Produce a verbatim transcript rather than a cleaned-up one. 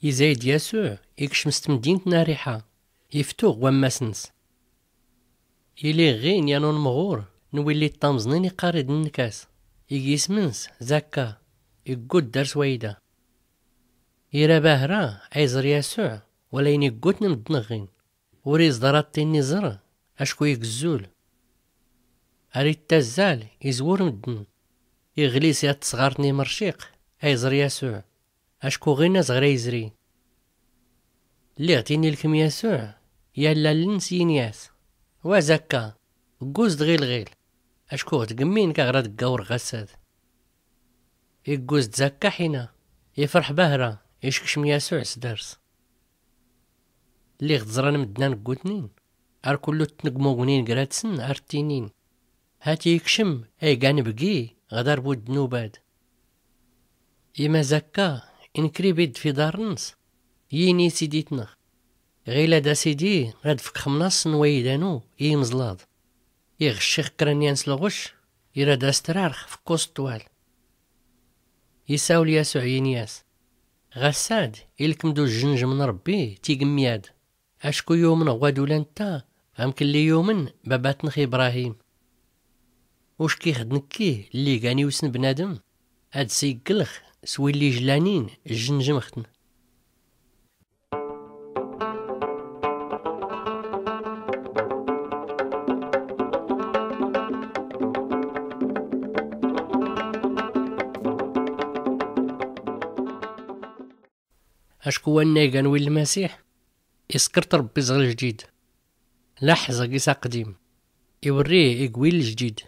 Izayd yasuɛ ikcem s tmdint n-ariḥa, iftuɣ wammas-ns. Iliɣ ɣin yan unmɣur n-willi ṭṭamẓnin iqqar-id nnkas, ig ism-ns zakka. Iggud dar s-wayda. Ira bahra a-iẓr yasuɛ wala ayn iggutn mddn ɣin. Ur iẓḍar aṭṭin iẓr acku igzzul. Ar ittazzal izwur mddn. Iɣlis yat tsɣart n-imrciq a-iẓr yasuɛ acku ɣin azɣr a-izri. Lliɣ tin ilkem yasuɛ yallal-ns yin-yas, wa zakka, gguz-d ɣilɣil acku ɣ-tgmmin kaɣ-ra-dggawr ɣassad. Igguz-d zakka ḥina ifrḥ bahra. Ickcm yasuɛ s-dars. Lliɣ-t ẓran mddn a-nggutnin ar kullu-ttn gmugnin grat-sn ar-ttinin, hati ikcm a-igan bgi ɣ-dar bu-ddnubad. Ima zakka inkr-ibid f-iḍarn-ns, yini sidit-nɣ, ɣilad a-sidi rad-fkx mnaṣṣ n-waydanu i-imẓlaḍ. Iɣ ccix kra n-yan s-lɣucc irad-as-trarx f-kkuẓ ṭṭwal. Isawel yasuɛ yin-yas, ɣassad ilkem-d ujjnjm n-rbbi tigmyad, acku yumn ɣwadul anta amk lli yumn babat-nx ibrahim. Uckix-d nkki lli gan iwsn bnadm ad-sigglx s-willi jlanin jjnjmx-tn. Acku wanna igan wi lmasiḥ iskrt rbbi zɣ ljdid. Laḥẓ ag is-aqdim iwrri ig wi ljdid.